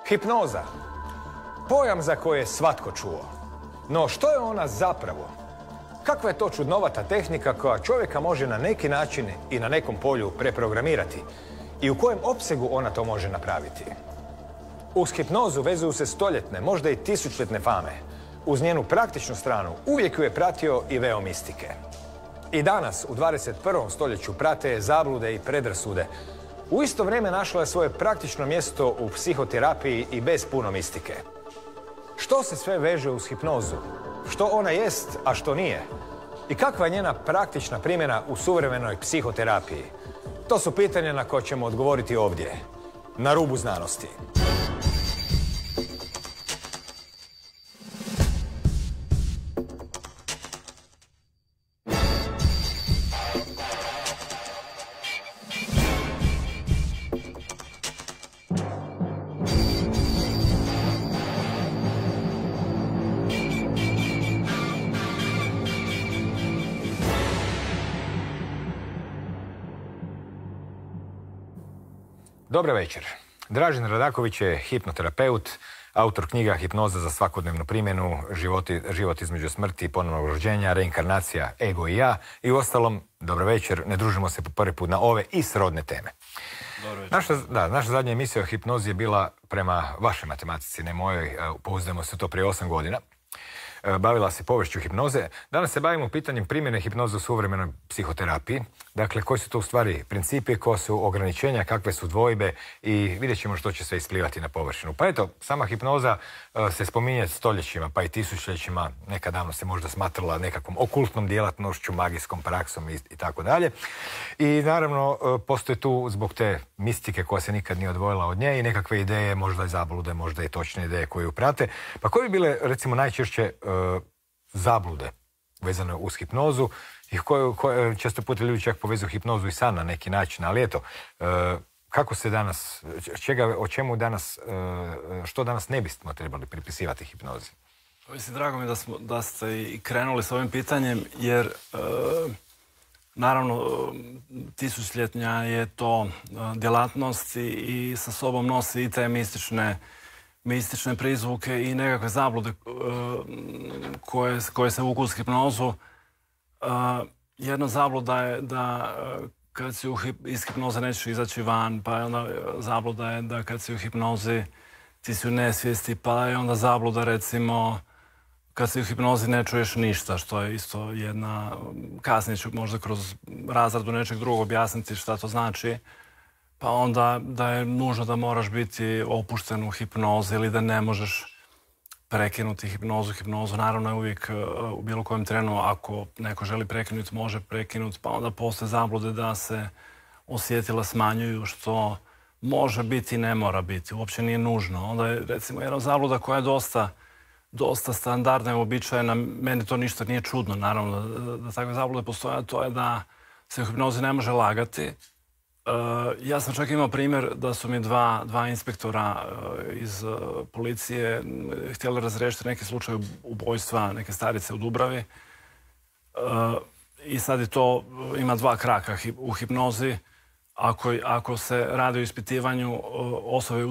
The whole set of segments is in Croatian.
Hipnoza. Pojam za koje je svatko čuo. No što je ona zapravo? Kakva je to čudnovata tehnika koja čovjeka može na neki način i na nekom polju preprogramirati? I u kojem opsegu ona to može napraviti? Uz hipnozu vezuju se stoljetne, možda i tisućljetne fame. Uz njenu praktičnu stranu uvijek ju je pratio i veo mistike. I danas, u 21. stoljeću, prate je zablude i predrasude. U isto vrijeme našla je svoje praktično mjesto u psihoterapiji i bez puno mistike. Što se sve veže uz hipnozu? Što ona jest, a što nije? I kakva je njena praktična primjena u suvremenoj psihoterapiji? To su pitanja na koje ćemo odgovoriti ovdje, na rubu znanosti. Dobar večer. Dražen Radaković je hipnoterapeut, autor knjiga Hipnoza za svakodnevnu primjenu, život između smrti i ponovnog rođenja, reinkarnacija, ego i ja. I uostalom, dobro večer, ne družimo se po prvi put na ove i srodne teme. Naša zadnja emisija o hipnozi je bila prema vašoj matematici, ne mojoj, pouzdajemo se to prije 8 godina. Bavila se poviješću hipnoze. Danas se bavimo pitanjem primjene hipnoze u suvremenoj psihoterapiji. Dakle, koji su to u stvari principi, koje su ograničenja, kakve su dvojbe i vidjet ćemo što će sve isplivati na površinu. Pa eto, sama hipnoza se spominje stoljećima, pa i tisućljećima. Nekad davno se možda smatrala nekakvom okultnom djelatnošću, magijskom praksom i tako dalje. I naravno, postoje tu zbog te mistike koja se nikad nije odvojila od nje i nekakve ideje, možda i zablude, možda i točne ideje koje ju prate. Pa koje bi bile, recimo, najčešće zablude vezane uz hipnozu i koje često puta ljudi čak povezuju hipnozu i san na neki način, ali eto, kako se danas, što danas ne bismo trebali pripisivati hipnozi? Mislim, drago mi je da ste i krenuli s ovim pitanjem, jer naravno tisućljetnja je to djelatnost i sa sobom nosi i te mistične prizvuke i nekakve zablude koje se vuku uz hipnozu. Jedna zabluda je da kad si iz hipnoze nećeš izaći van, pa je onda zabluda je da kad si u hipnozi ti si u nesvijesti, pa je onda zabluda recimo kad si u hipnozi ne čuješ ništa, što je isto jedna, kasnije ću možda kroz razradu nečeg drugog objasniti šta to znači. Pa onda da je nužno da moraš biti opušten u hipnozi ili da ne možeš prekinuti hipnozu. Naravno je uvijek u bilo kojem trenu, ako neko želi prekinuti, može prekinuti, pa onda postoje zablude da se osjetila smanjuju, što može biti i ne mora biti, uopće nije nužno. Onda je recimo jedna zabluda koja je dosta standardna i uobičajena, meni to ništa nije čudno, naravno da takve zablude postoje, a to je da se u hipnozi ne može lagati. Ja sam čak imao primjer da su mi dva inspektora iz policije htjeli razriješiti neki slučaj ubojstva neke starice u Dubravi. I sad je to, ima dva kraka u hipnozi. Ako se radi o ispitivanju osobe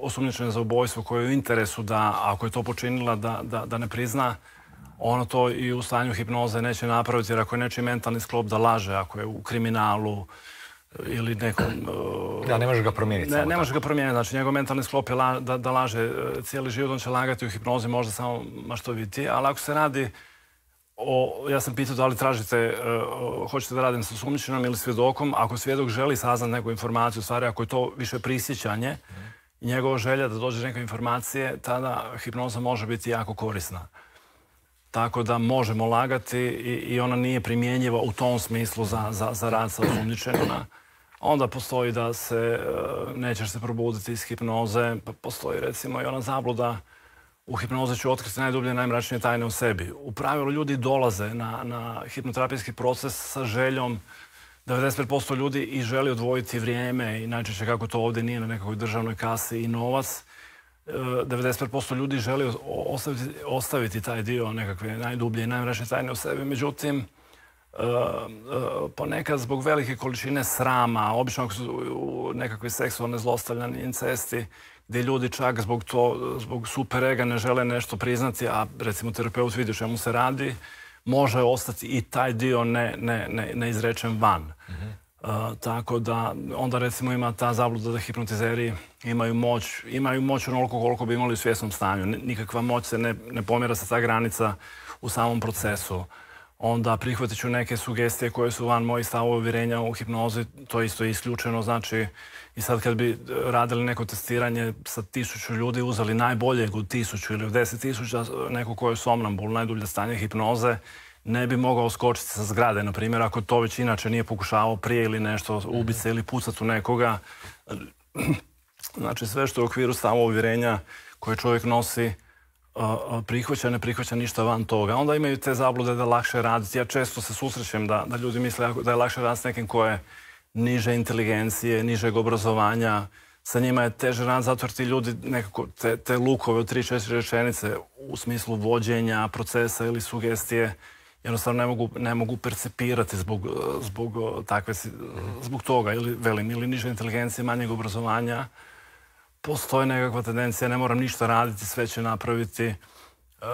osumnjičene za ubojstvo koje je u interesu da, ako je to počinila, da ne prizna, ono to i u stanju hipnoze neće napraviti, jer ako je nečiji mentalni sklop da laže, ako je u kriminalu, ili nekom... Da, ne može ga promijeniti. Ne može ga promijeniti, znači njegov mentalni sklop je da laže cijeli život, on će lagati u hipnozi, možda samo maštoviti, ali ako se radi o... Ja sam pitao da li tražite, hoćete da radim sa osumnjičenom ili svjedokom, ako svjedok želi saznati neku informaciju, u stvari ako je to više prisjećanje i njegova želja da dođe neke informacije, tada hipnoza može biti jako korisna. Tako da možemo lagati i ona nije primjenjiva u tom smislu za rad sa osumnjičenima. Onda postoji da nećeš se probuditi iz hipnoze, pa postoji recimo i ona zabluda u hipnozi ću otkriti najdublje, najmračnije tajne u sebi. U pravilu ljudi dolaze na hipnoterapijski proces sa željom, 95% ljudi i želi odvojiti vrijeme i najčešće kako to ovdje nije na nekakvoj državnoj kasi i novac. 95% ljudi želi ostaviti taj dio nekakve najdublje i najmračnije tajne u sebi. Međutim, ponekad zbog velike količine srama, obično ako su nekakve seksualne zlostavljanje, incesti, gdje ljudi čak zbog super ega ne žele nešto priznati, a recimo terapeut vidi o čemu se radi, može ostati i taj dio neizrečen van. Tako da onda recimo ima ta zabluda da hipnotizeri imaju moć onoliko koliko bi imali u svjesnom stanju. Nikakva moć se ne pomjera sa ta granica u samom procesu. Onda prihvatit ću neke sugestije koje su van mojih stavova uvjerenja u hipnozi, to isto je isključeno. Znači, i sad kad bi radili neko testiranje sa 1000 ljudi, uzeli najboljeg od 1000 ili od 10.000, neko ko je somnambul, najdulje stanje hipnoze, ne bi mogao skočiti sa zgrade, na primjer, ako to već inače nije pokušavao prije ili nešto, ubiti se ili pucati u nekoga. Znači, sve što je u okviru stavova uvjerenja koje čovjek nosi, prihvaća, ne prihvaća ništa van toga. Onda imaju te zablude da je lakše raditi. Ja često se susrećem da ljudi misle da je lakše raditi s nekim ko je niže inteligencije, nižeg obrazovanja. Sa njima je teže raditi zato jer ti ljudi nekako te lukove od 3-4 rečenice u smislu vođenja procesa ili sugestije jednostavno ne mogu percepirati zbog toga ili niže inteligencije, manjeg obrazovanja. Postoji nekakva tendencija, ne moram ništa raditi, sve će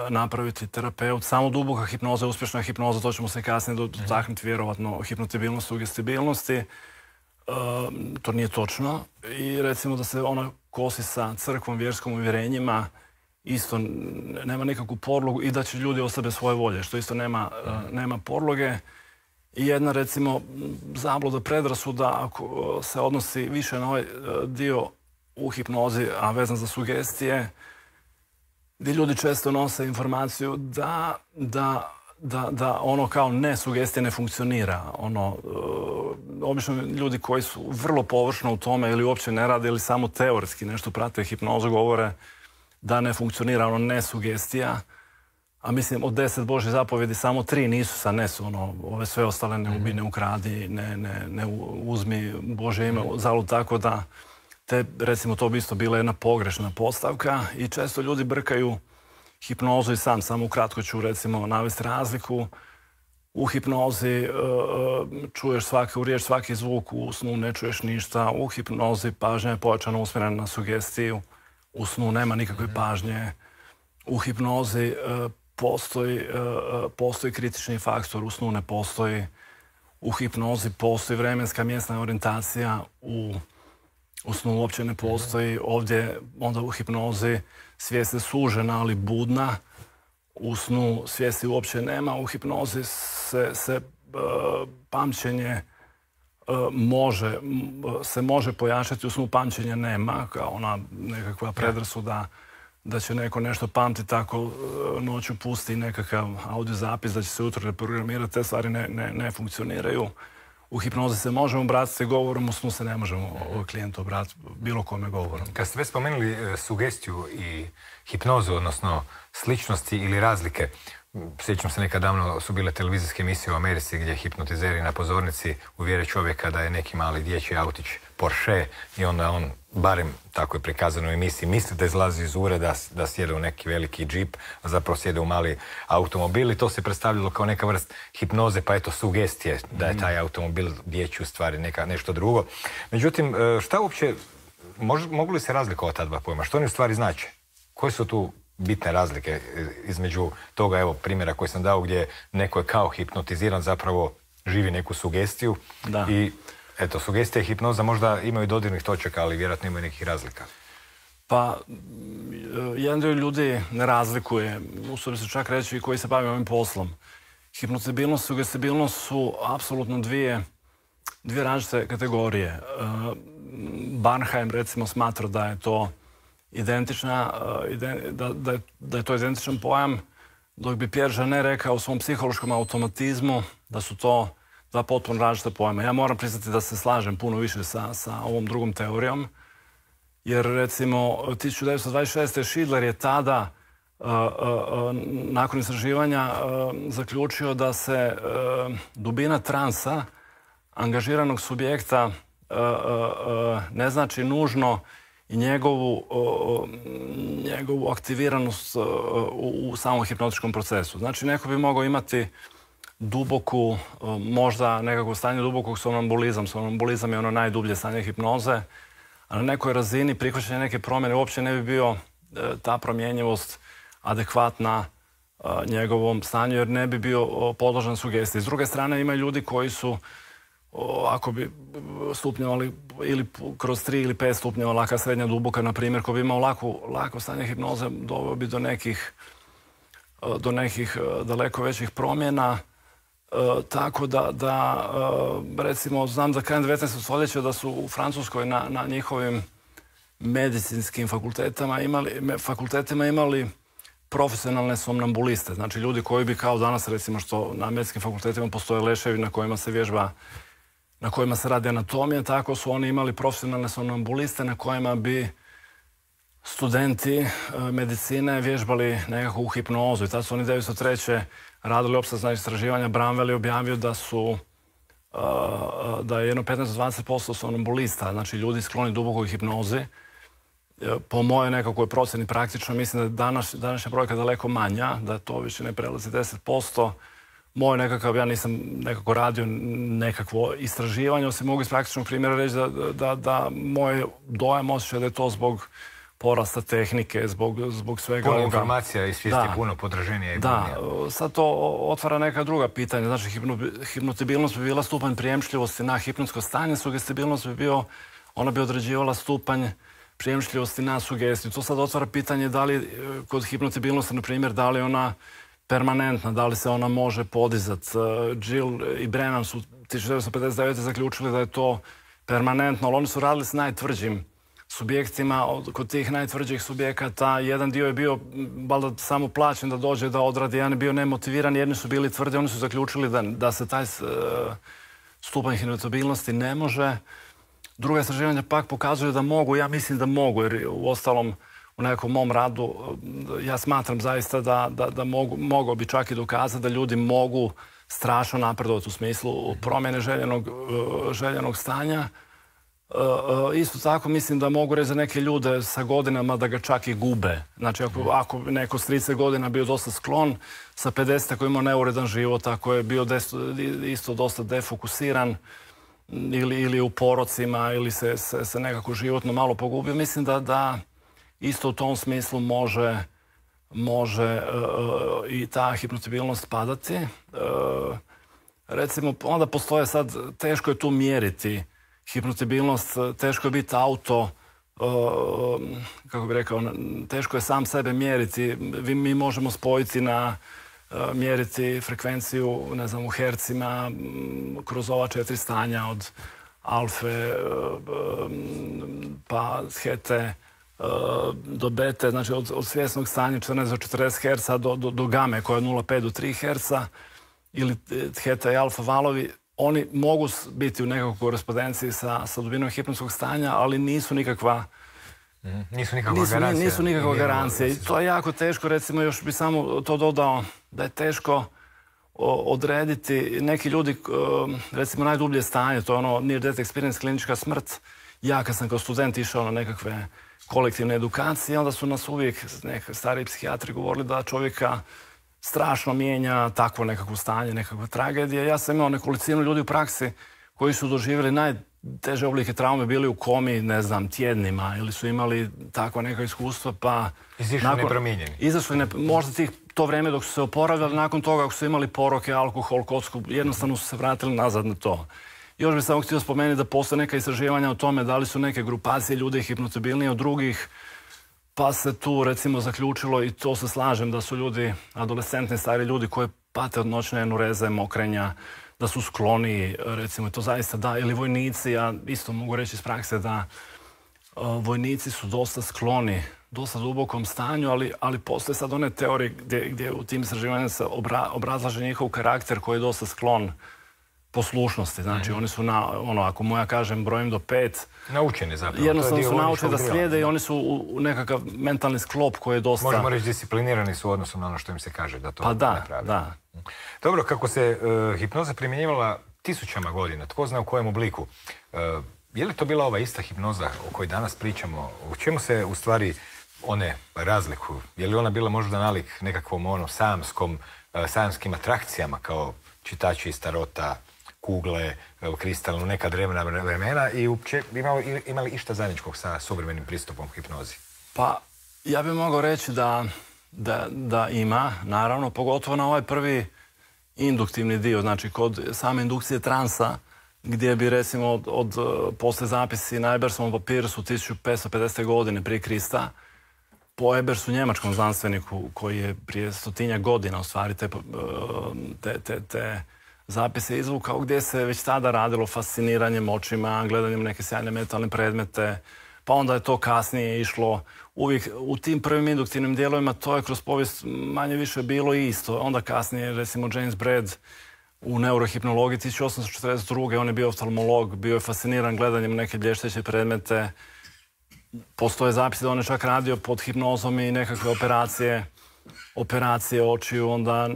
napraviti terapeut. Samo duboka hipnoza, uspješna hipnoza, to ćemo se kasnije dotaknuti vjerovatno hipnotibilnosti, sugestibilnosti. To nije točno. I recimo da se ona kosi sa crkvom, vjerskom uvjerenjima, isto nema nikakvu podlogu i da će ljudi oslabe svoje volje, što isto nema podloge. I jedna, recimo, zabluda, predrasuda, ako se odnosi više na ovaj dio u hipnozi, a vezan za sugestije, gdje ljudi često nose informaciju da ono kao ne sugestije ne funkcionira. Obično ljudi koji su vrlo površno u tome ili uopće ne rade ili samo teoretski nešto prate hipnozu govore da ne funkcionira ne sugestija. A mislim, od 10 Božjih zapovjedi samo 3 nisu sa ne su. Ove sve ostale ne ubi, ne ukradi, ne uzmi Božje ime zalud, tako da recimo to bi isto bila jedna pogrešna postavka i često ljudi brkaju hipnozu i san. Samo ukratko ću recimo navesti razliku. U hipnozi čuješ svaku riječ, svaki zvuk, u snu ne čuješ ništa. U hipnozi pažnja je pojačano usmjerena na sugestiju. U snu nema nikakve pažnje. U hipnozi postoji kritični faktor, u snu ne postoji. U hipnozi postoji vremenska mjesna orijentacija, u snu uopće ne postoji. Ovdje onda u hipnozi svijest je sužena, ali budna. U snu svijesti uopće nema. U hipnozi se pamćenje može pojačati, u snu pamćenja nema, kao ona nekakva predrasuda da će neko nešto pamtiti tako noću pusti nekakav audio zapis da će se ujutro reprogramirati, te stvari ne funkcioniraju. U hipnozi se možemo obratiti govorom, u snu se ne možemo klijentu obratiti bilo kome govorom. Kad ste već spomenuli sugestiju i hipnozu, odnosno sličnosti ili razlike, sjećam se nekad davno su bile televizijske emisije u Americi gdje hipnotizeri na pozornici uvjere čovjeka da je neki mali dječji autić Porsche i onda on, barem tako je prikazano u emisiji, misli da izlazi iz ureda, da sjede u neki veliki džip, a zapravo sjede u mali automobil i to se predstavljalo kao neka vrst hipnoze, pa eto sugestije da je taj automobil dječji u stvari nešto drugo. Međutim, šta uopće, mogu li se razlikovati ta dva pojma? Što oni u stvari znače? Koje su tu bitne razlike između toga, evo, primjera koji sam dao gdje neko je kao hipnotiziran, zapravo živi neku sugestiju i eto, sugestija i hipnoza možda imaju dodirnih točaka, ali vjerojatno imaju nekih razlika. Pa, jedan dio ljudi ne razlikuje, usudim se čak reći, koji se bave ovim poslom. Hipnotibilnost i sugestibilnost su apsolutno dvije različite kategorije. Barnheim, recimo, smatra da je to da je to identičan pojam, dok bi Pierre Janet rekao u svom psihološkom automatizmu da su to dva potpuno različita pojma. Ja moram priznati da se slažem puno više sa ovom drugom teorijom, jer recimo 1926. Schindler je tada nakon istraživanja zaključio da se dubina transa angažiranog subjekta ne znači nužno i njegovu aktiviranost u samom hipnotičkom procesu. Znači, neko bi mogao imati duboku, možda nekako stanje dubokog somnambulizam. Somnambulizam je ono najdublje stanje hipnoze, a na nekoj razini prihvaćanje neke promjene uopće ne bi bio ta promjenjivost adekvatna njegovom stanju, jer ne bi bio podložan sugestiji. S druge strane, ima ljudi koji su, ako bi stupnjevali ili kroz 3 ili 5 stupnjeva, laka, srednja, duboka, na primjer, ko bi imao lako stanje hipnoze, doveo bi do nekih daleko većih promjena. Tako da recimo, znam da krajem 19. stoljeća da su u Francuskoj na njihovim medicinskim fakultetima imali profesionalne somnambuliste. Znači ljudi koji bi kao danas, recimo što na medicinskim fakultetima postoje leševi na kojima se vježba, na kojima se radi anatomija, tako su oni imali profesionalne somnambuliste na kojima bi studenti medicine vježbali nekakvu hipnozu. I tad su oni 1903. radili opsežna istraživanja. Bramwell je objavio da je jedno 15-20% somnambulista, znači ljudi skloni dubokoj hipnozi. Po mojoj nekakvoj procjeni praktično mislim da je današnja brojka daleko manja, da to više ne prelazi 10%. Moj nekakav, ja nisam nekako radio nekakvo istraživanje, osim mogu iz praktičnog primjera reći da moj dojam osjeća da je to zbog porasta tehnike, zbog svega ovoga. Puno informacija i svijesti puno podraženija i bolnija. Da, sad to otvara neka druga pitanja. Znači, hipnotibilnost bi bila stupanj prijemčljivosti na hipnotsko stanje, sugestibilnost ona bi određivala stupanj prijemčljivosti na sugestiju. To sad otvara pitanje da li kod hipnotibilnosti, na primjer, da li ona permanentna, da li se ona može podizati. Gill i Brennan su 1959. zaključili da je to permanentno, ali oni su radili s najtvrđim subjektima. Kod tih najtvrđih subjekata jedan dio je bio valjda samo plaćen da dođe da odradi, jedan je bio nemotiviran, jedni su bili tvrdi, oni su zaključili da se taj stupanj hipnotibilnosti ne može. Druga istraživanja pak pokazuju da mogu, ja mislim da mogu, jer u ostalom u nekom mom radu ja smatram zaista da mogao bi čak i dokazati da ljudi mogu strašno napredovati u smislu promjene željenog stanja. Isto tako mislim da mogu reći za neke ljude sa godinama da ga čak i gube. Znači ako neko s 30 godina bio dosta sklon, sa 50 ako imao neuredan život, ako je bio isto dosta defokusiran ili u porocima ili se nekako životno malo pogubio, mislim da isto u tom smislu može i ta hipnotibilnost padati. Recimo, onda postoje sad, teško je tu mjeriti hipnotibilnost, teško je biti kako bih rekao, teško je sam sebe mjeriti. Mi možemo spojiti mjeriti frekvenciju, ne znam, u hercima, kroz ova 4 stanja od alfe, pa hete, do bete, znači od svjesnog stanja 14 do 40 Hz do game koja je 0,5 do 3 Hz ili heta i alfa valovi. Oni mogu biti u nekakvoj korespondenciji sa dubinom hipnotskog stanja, ali nisu nikakva garancija. I to je jako teško, recimo još bi samo to dodao da je teško odrediti. Neki ljudi, recimo najdublje stanje, to je ono near death experience, klinička smrt. Ja kad sam kao student išao na nekakve kolektivne edukacije, onda su nas uvijek stariji psihijatri govorili da čovjeka strašno mijenja takvo nekakvo stanje, nekakva tragedija. Ja sam imao nekolicinu ljudi u praksi koji su doživjeli najteže oblike traume, bili u komi, ne znam, tjednima ili su imali takva neka iskustva, pa... Izišli nepromijenjeni. Izašli, možda to vrijeme dok su se oporavljali, nakon toga ako su imali poroke, alkohol, kocku, jednostavno su se vratili nazad na to. Još bih samo htio spomenuti da postoje neka istraživanja o tome da li su neke grupacije ljudi hipnotibilniji od drugih, pa se tu recimo zaključilo, i to se slažem, da su ljudi, adolescentni, stari ljudi koji pate od noćne enureze, mokrenja, da su skloni, recimo, to zaista da, ili vojnici, ja isto mogu reći iz prakse da vojnici su dosta skloni, dosta dubokom stanju, ali postoje sad one teorije gdje u tim istraživanjima se obrazlaže njihov karakter koji je dosta sklon poslušnosti. Znači, oni su ako moja kažem brojim do 5... Naučeni zapravo. Jednostavno su naučeni da slijede i oni su u nekakav mentalni sklop koji je dosta... Možemo reći disciplinirani su u odnosu na ono što im se kaže da to napravi. Pa da. Dobro, kako se hipnoza primjenjivala tisućama godina, tko zna u kojem obliku, je li to bila ova ista hipnoza o kojoj danas pričamo? U čemu se u stvari one razlikuju? Je li ona bila možda nalik nekakvom samskim atrakcijama kao čitači starota, kugle, kristalno, neka drevna vremena i uopće imali išta zajedničkog sa suvremenim pristupom hipnozi? Pa, ja bih mogao reći da ima, naravno, pogotovo na ovaj prvi induktivni dio, znači kod same indukcije transa, gdje bi recimo posle zapisi na Ebersovom papiru su 1550. godine prije Krista, po Ebersu, njemačkom znanstveniku, koji je prije 100-tinjak godina u stvari te zapise izvukao, gdje se već tada radilo fasciniranjem očima, gledanjem neke sjajne metalne predmete, pa onda je to kasnije išlo. Uvijek u tim prvim induktivnim dijelovima to je kroz povijest manje više bilo isto. Onda kasnije, recimo, James Braid u neurohipnologiji 1842. on je bio oftalmolog, bio je fasciniran gledanjem neke blješteće predmete. Postoje zapisi da on je čak radio pod hipnozom i nekakve operacije očiju. Onda,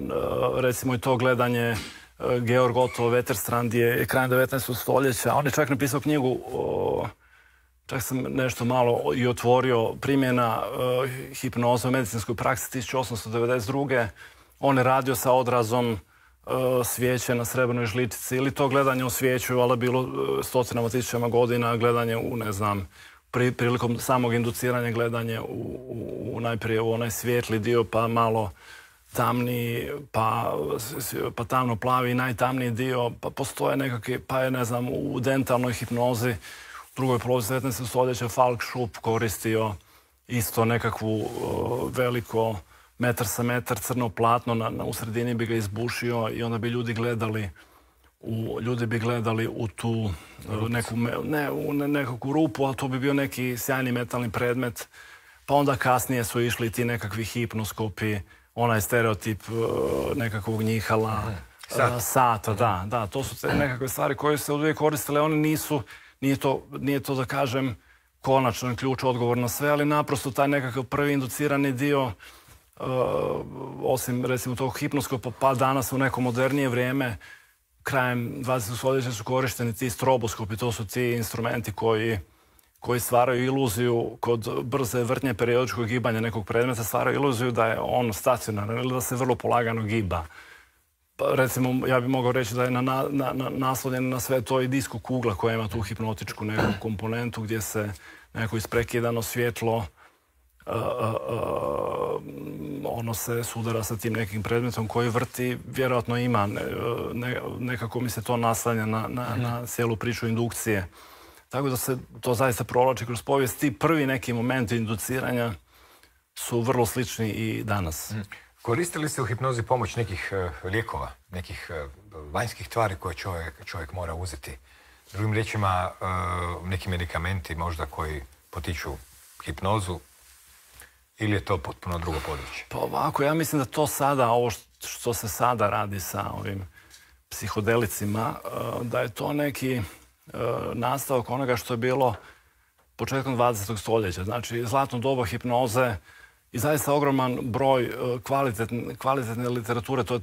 recimo, i to gledanje Georg Otto Wetterstrand je krajem 19. stoljeća. On je čak napisao knjigu, čak sam nešto malo i otvorio, primjena hipnoze u medicinskoj praksi 1892. On je radio sa odrazom svijeće na srebrnoj žličici ili to gledanje u svijeću, ali bilo stotinama tisućama godina, gledanje u, ne znam, prilikom samog induciranja gledanje najprije u onaj svijetli dio, pa malo tamniji, pa tamno plavi, najtamniji dio, pa postoje nekakve, pa je, ne znam, u dentalnoj hipnozi u drugoj polovici 19. stoljeća Falk Schupp koristio isto nekakvu veliko metar sa metar crno platno, u sredini bi ga izbušio i onda bi ljudi gledali u tu nekakvu rupu, ali to bi bio neki sjajni metalni predmet. Pa onda kasnije su išli ti nekakvi hipnoskopi, onaj stereotip nekakvog njihala, sata, da. To su te nekakve stvari koje se uvijek koristile. One nije to da kažem konačan ključ, odgovor na sve, ali naprosto taj nekakav prvi inducirani dio, osim recimo tog hipnoskopa, pa danas u neko modernije vrijeme, krajem 20. stoljeća su korišteni ti stroboskopi, to su ti instrumenti koji stvaraju iluziju kod brze vrtnje periodičkog gibanja nekog predmeta, stvaraju iluziju da je on stacionaran ili da se vrlo polagano giba. Pa, recimo, ja bih mogao reći da je naslonjen na sve to i disko kugla koja ima tu hipnotičku neku komponentu gdje se neko isprekidano svjetlo ono se sudara sa tim nekim predmetom koji vrti, vjerojatno ima, nekako mi se to naslanja na cijelu priču indukcije. Tako da se to zaista provlači kroz povijest. Ti prvi neki momenti induciranja su vrlo slični i danas. Koristili ste u hipnozi pomoć nekih lijekova, nekih vanjskih tvari koje čovjek mora uzeti? Drugim riječima, neki medikamenti možda koji potiču hipnozu, ili je to potpuno drugo područje? Pa ovako, ja mislim da to sada, ovo što se sada radi sa ovim psihodelicima, da je to neki nastavak onoga što je bilo početkom 20. stoljeća. Znači, zlatno doba hipnoze i zaista ogroman broj kvalitetne literature. To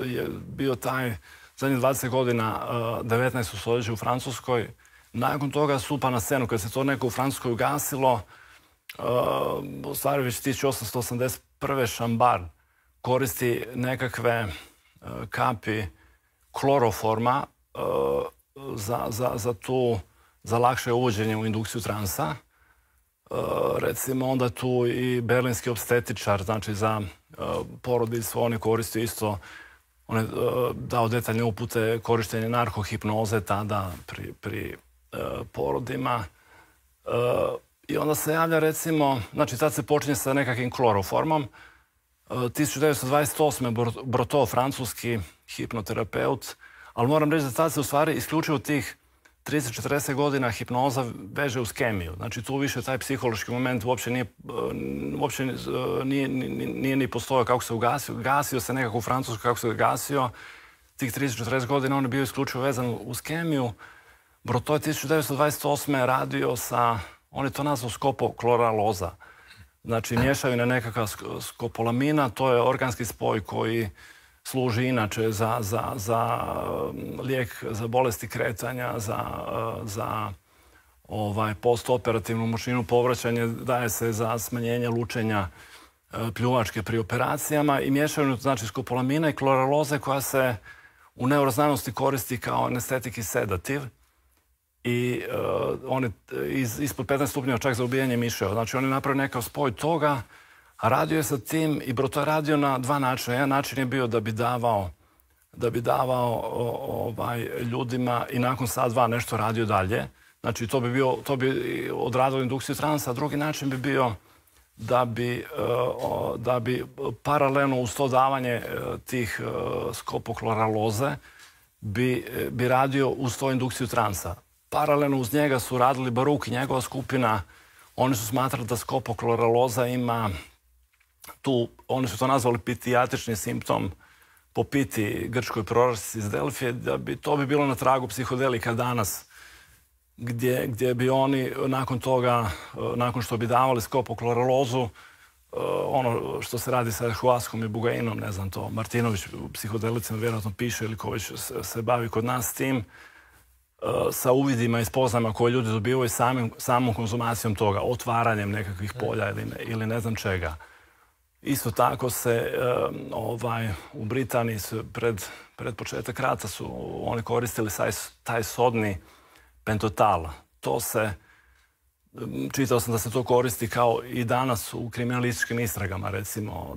je bio taj zadnjih 20 godina 19. stoljeća u Francuskoj. Nakon toga stupa na scenu, kad se to neko u Francuskoj ugasilo, u stvari već 1881. Šambar koristi nekakve kapi kloroforma za lakše uvođenje u indukciju transa. Recimo, onda tu i berlinski opstetičar, znači za porodicu, on je koristio isto, on je dao detaljne upute korištenje narkohipnoze tada pri porodima. I onda se javlja, recimo, znači tad se počinje sa nekakvim kloroformom. 1928. Brotteau, francuski hipnoterapeut, ali moram reći da tad se u stvari isključivo tih 30-40 godina hipnoza veže uz kemiju. Znači tu više taj psihološki moment uopće nije ni postojao kako se ugasio. Gasio se nekako u Francuskoj kako se gasio. Tih 30-40 godina on je bio isključivo vezan uz kemiju. Brotteau je 1928. radio sa, on je to nazvao skopokloraloza. Znači mješavina nekakva skopolamina, to je organski spoj koji služi inače za lijek za bolesti kretanja, za postoperativnu močninu povraćanja, daje se za smanjenje lučenja pljuvačke pri operacijama i mješavinu, znači skopolamina i kloraloze koja se u neuroznanosti koristi kao anestetik i sedativ i on je ispod 15 stupnjeva čak za ubijanje miševa. Znači on je napravio nekakav spoj toga, a radio je sa tim i to je radio na dva načina. Jedan način je bio da bi davao ljudima i nakon sat dva nešto radio dalje. Znači to bi odradilo indukciju transa, a drugi način bi bio da bi paralelno uz to davanje tih skopokloraloze bi radio uz to indukciju transa. Paralelno uz njega su radili Baruk i njegova skupina. Oni su smatrali da skopokloraloza ima tu, oni su to nazvali pitijatrični simptom po Piti, grčkoj proročici iz Delfije, to bi bilo na tragu psihodelika danas, gdje bi oni nakon toga, nakon što bi davali skopokloralozu, ono što se radi sa ayahuaskom i bugainom, ne znam to, Martinović u psihodelicima vjerojatno piše ili ko već se bavi kod nas s tim, sa uvidima i spoznajama koje ljudi dobivaju samom konzumacijom toga, otvaranjem nekakvih polja ili ne znam čega. Isto tako se u Britaniji pred početak rata su oni koristili taj sodni pentotal. To se, čitao sam da se to koristi kao i danas u kriminalističkim istragama, recimo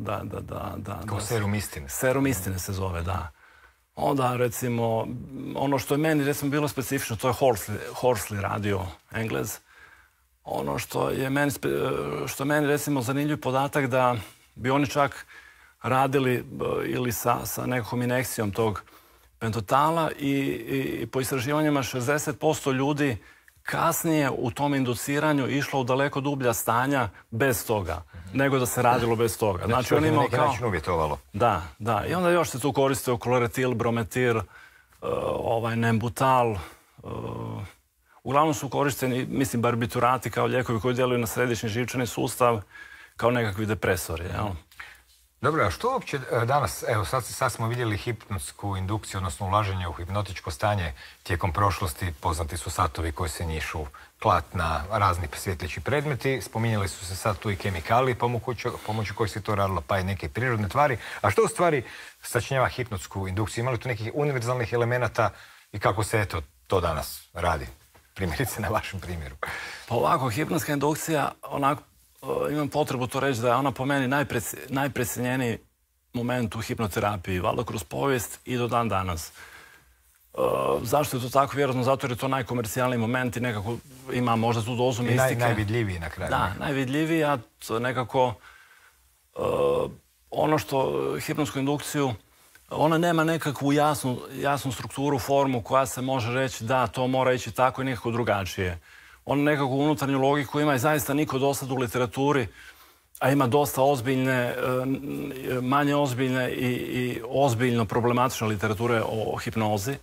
kao serum istine. Serum istine se zove, da. Onda, recimo, ono što je meni, recimo, bilo specifično, to je Horsley radio, Englez. Ono što je meni, recimo, zanimljiv podatak da bi oni čak radili ili sa nekakvom injekcijom tog pentotala i po istraživanjima 60% ljudi kasnije u tom induciranju išlo u daleko dublja stanja bez toga, nego da se radilo bez toga. Znači, on imao kao... način uvjetovalo. Da. I onda još se tu koristio kloretil, brometil, nembutal. Uglavnom su korišteni, mislim, barbiturati kao lijekovi koji djeluju na središnji živčani sustav kao nekakvi depresori. Dobro, a što uopće danas, evo sad smo vidjeli hipnotsku indukciju, odnosno ulaženje u hipnotičko stanje tijekom prošlosti, poznati su satovi koji se njišu, klatna, razni svjetleći predmeti, spominjali su se sad tu i kemikalije pomoću kojih se to radilo, pa i neke prirodne tvari. A što u stvari sačinjava hipnotsku indukciju? Ima li tu nekih univerzalnih elemenata i kako se to danas radi? Primjerice na vašem primjeru. Pa ovako, hipnotska indukcija, onako, imam potrebu to reći da je ona po meni najprecijenjeniji moment u hipnoterapiji, valjda kroz povijest i do dan danas. Zašto je to tako? Vjerojatno zato jer je to najkomercijalniji moment i nekako ima možda tu dozu mistike. I najvidljiviji na kraju. Da, najvidljiviji, a nekako ono što hipnotsku indukciju, ona nema nekakvu jasnu strukturu, formu koja se može reći da to mora ići tako i nekako drugačije. On nekakvu unutarnju logiku ima i zaista niko do sad u literaturi, a ima dosta ozbiljne, manje ozbiljne i ozbiljno problematične literature o hipnozi.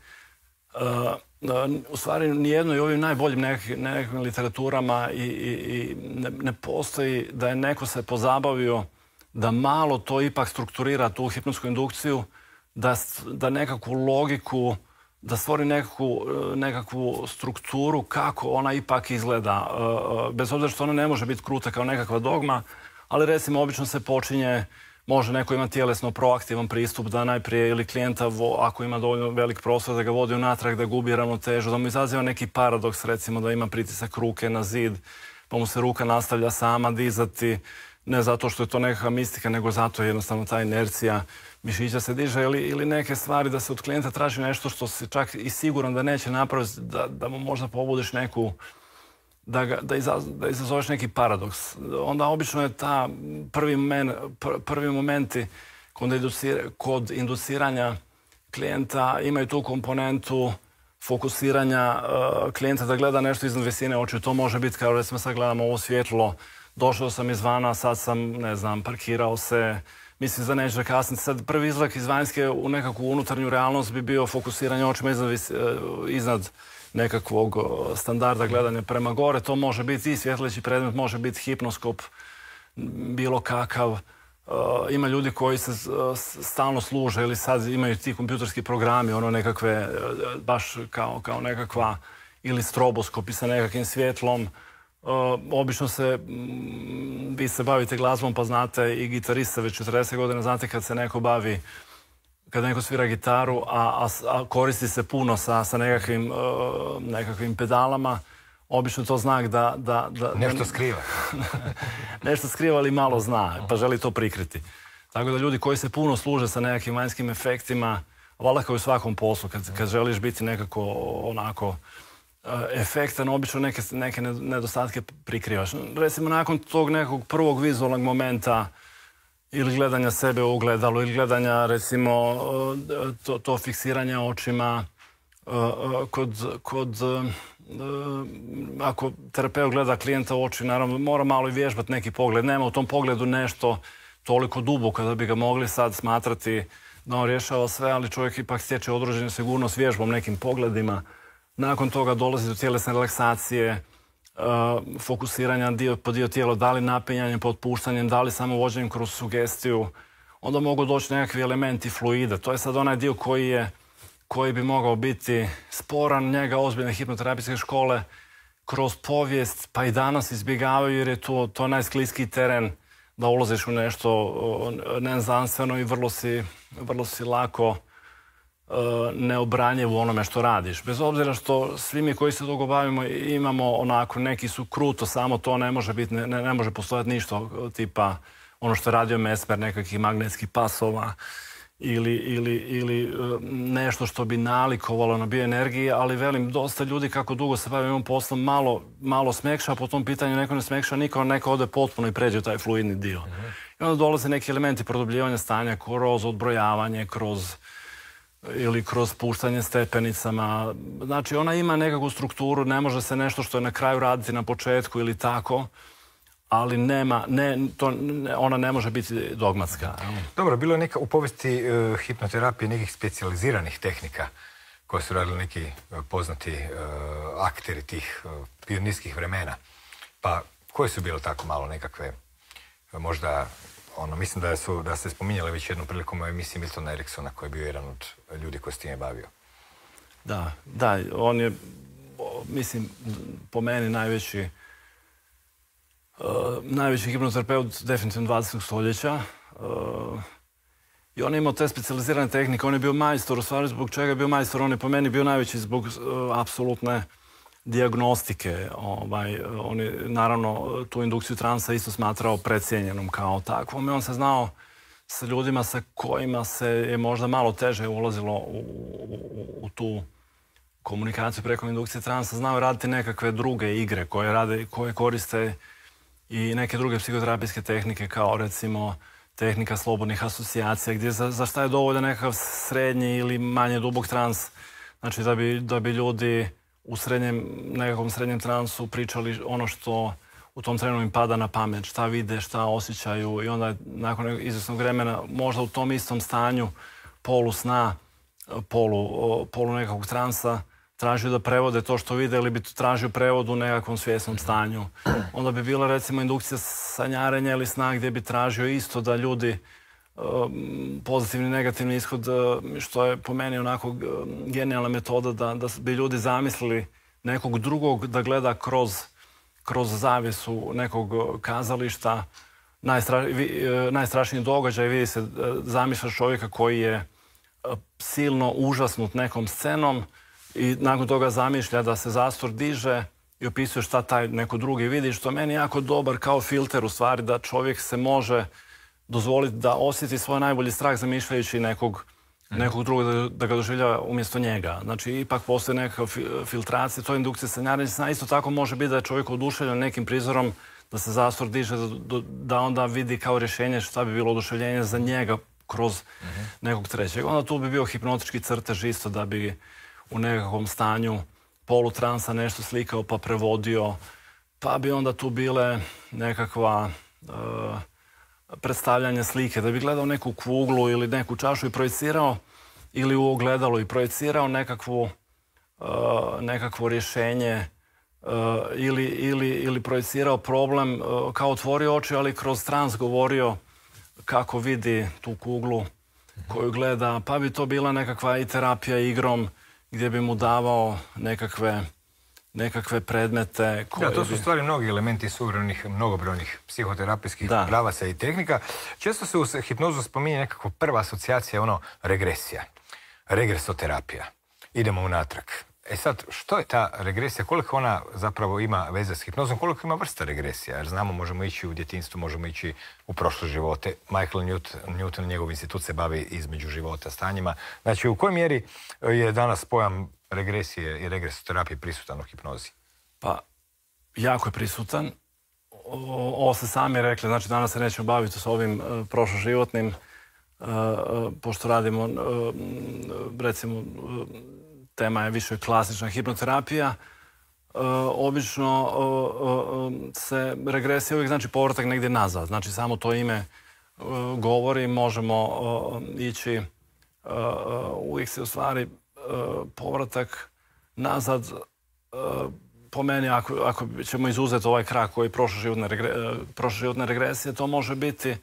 U stvari, nijedno i ovim najboljim nekakvim literaturama i ne postoji da je neko se pozabavio da malo to ipak strukturira tu hipnotsku indukciju, da nekakvu logiku, da stvori nekakvu strukturu kako ona ipak izgleda. Bez obzira što ona ne može biti kruta kao nekakva dogma, ali recimo obično se počinje, može neko imati tjelesno proaktivan pristup da najprije ili klijenta, ako ima dovoljno velik prostor, da ga vodi unatrag, da gubi ravnotežu, da mu izaziva neki paradoks, recimo da ima pritisak ruke na zid, pa mu se ruka nastavlja sama dizati, ne zato što je to nekakva mistika, nego zato je jednostavno ta inercija mišića se diže ili neke stvari da se od klijenta traži nešto što se čak i siguran da neće napraviti, da mu možda pobudiš neku, da izazoveš neki paradoks. Onda obično je ta prvi momenti kod induciranja klijenta imaju tu komponentu fokusiranja klijenta da gleda nešto iznad visine očiju. To može biti kao recimo sad gledamo ovo svjetlo, došao sam izvana, sad sam, ne znam, parkirao se, mislim da neću da kasniti. Sad prvi izlak iz vanjske u nekakvu unutarnju realnost bi bio fokusiranje očima iznad nekakvog standarda gledanja prema gore. To može biti i svjetleći predmet, može biti hipnoskop, bilo kakav. Ima ljudi koji se stalno služe ili sad imaju ti kompjuterski programi, ono nekakve, baš kao nekakva, ili stroboskopi sa nekakvim svjetlom. Obično vi se bavite glazbom pa znate i gitarista već 40 godina, znate kad se neko bavi, kad neko svira gitaru, a koristi se puno sa nekakvim pedalama, obično to znak da nešto skriva. Nešto skriva, ali malo zna, pa želi to prikriti. Tako da ljudi koji se puno služe sa nekakvim vanjskim efektima, valjda kao u svakom poslu, kad želiš biti nekako onako efektan, obično neke nedostatke prikrivaš. Recimo, nakon tog nekog prvog vizualnog momenta ili gledanja sebe u ogledalu, ili gledanja, recimo, to fiksiranje očima, ako terapeut gleda klijenta u oči, naravno mora malo i vježbati neki pogled. Nema u tom pogledu nešto toliko duboko da bi ga mogli sad smatrati da on rješava sve, ali čovjek ipak stječe određenu sigurnost vježbom, nekim pogledima. Nakon toga dolazi do tjelesne relaksacije, fokusiranja dio po dio tijela, da li napenjanjem, potpuštanjem, da li samo vođenjem kroz sugestiju. Onda mogu doći nekakvi elementi fluida. To je sad onaj dio koji bi mogao biti sporan. Njega ozbiljne hipnoterapijske škole kroz povijest pa i danas izbjegavaju, jer je to najskliskiji teren da ulaziš u nešto neznanstveno i vrlo si lako neobranjiv u onome što radiš. Bez obzira što svi mi koji se dugo bavimo imamo onako, neki su kruto, samo to ne može biti, ne može postojati ništa tipa ono što je radio Mesmer, nekakvih magnetskih pasova ili nešto što bi nalikovalo na bioenergiji, ali velim, dosta ljudi kako dugo se bavimo ovim poslom malo smekša, po tom pitanju neko ne smekša, neko ode potpuno i pređe u taj fluidni dio. I onda dolaze neki elementi produbljivanja stanja kroz odbrojavanje, ili kroz puštanje stepenicama. Znači, ona ima nekakvu strukturu, ne može se nešto što je na kraju raditi na početku ili tako, ali ona ne može biti dogmatska. Dobro, bilo je u povijesti hipnoterapije nekih specijaliziranih tehnika koje su radili neki poznati akteri tih pionirskih vremena. Pa koje su bile tako malo nekakve, možda, mislim da ste spominjali već jednom prilikom u emisiji Miltona Eriksona, koji je bio jedan od ljudi koji s time bavio. Da, on je, mislim, po meni najveći hipnoterapeut definitivno 20. stoljeća. I on je imao te specijalizirane tehnike. On je bio majstor, u stvari zbog čega je bio majstor? On je po meni bio najveći zbog apsolutne dijagnostike. On je naravno tu indukciju transa isto smatrao precijenjenom kao takvom. I on se znao sa ljudima sa kojima se je možda malo teže ulazilo u tu komunikaciju preko indukcije transa. Znao raditi nekakve druge igre koje koriste i neke druge psihoterapijske tehnike, kao recimo tehnika slobodnih asocijacija, gdje za šta je dovoljan nekakav srednji ili manje dubok trans. Znači da bi ljudi u nekakvom srednjem transu pričali ono što u tom trenu im pada na pamet, šta vide, šta osjećaju, i onda nakon izvjesnog vremena možda u tom istom stanju polu sna, polu nekakvog transa tražio da prevode to što vide, ili bi tražio prevod u nekakvom svjesnom stanju. Onda bi bila recimo indukcija sanjarenja ili sna, gdje bi tražio isto da ljudi pozitivni i negativni ishod, što je po meni onako genijalna metoda da bi ljudi zamislili nekog drugog da gleda kroz zavjesu nekog kazališta. Najstrašniji događaj, vidi se, zamišljaš čovjeka koji je silno užasnut nekom scenom i nakon toga zamišlja da se zastor diže i opisuje šta taj neko drugi vidi, što meni jako dobar kao filter u stvari, da čovjek se može dozvoliti da osjeti svoj najbolji strah zamišljajući nekog drugog da ga doživljava umjesto njega. Znači, ipak postoji nekakva filtracija, to je indukcija sanjarenja sna. Isto tako može biti da je čovjek oduševljen nekim prizorom, da se zastor diže, da onda vidi kao rješenje šta bi bilo oduševljenje za njega kroz nekog trećeg. Onda tu bi bio hipnotički crtež isto, da bi u nekakvom stanju polutransa nešto slikao pa prevodio, pa bi onda tu bile nekakva predstavljanje slike, da bi gledao neku kuglu ili neku čašu i projecirao, ili u ogledalu i projecirao nekakvo rješenje, ili projecirao problem, kao otvorio oči, ali kroz trans govorio kako vidi tu kuglu koju gleda, pa bi to bila nekakva i terapija igrom, gdje bi mu davao nekakve nekakve predmete koje... Da, to su stvari mnogi elementi suvremenih, mnogobrojnih psihoterapijskih pravaca i tehnika. Često se u hipnozu spominje nekakva prva asocijacija, regresija, regresoterapija. Idemo unatrag. E sad, što je ta regresija? Koliko ona zapravo ima veze s hipnozom? Koliko ima vrsta regresija? Jer znamo, možemo ići u djetinjstvo, možemo ići u prošle živote. Michael Newton, njegov institut se bavi između života stanjima. Znači, u kojoj mjeri je danas pojam regresije i regresoterapije prisutan u hipnozi? Pa, jako je prisutan. Ovo ste sami rekli, znači danas se nećemo baviti s ovim prošloživotnim, pošto radimo, recimo, tema je više klasična hipnoterapija. Obično se regresija uvijek znači povratak negdje nazad. Znači samo to ime govori, možemo ići, uvijek se u stvari povratak nazad, po meni, ako ćemo izuzeti ovaj krak koji je prošloživotne regresije, to može biti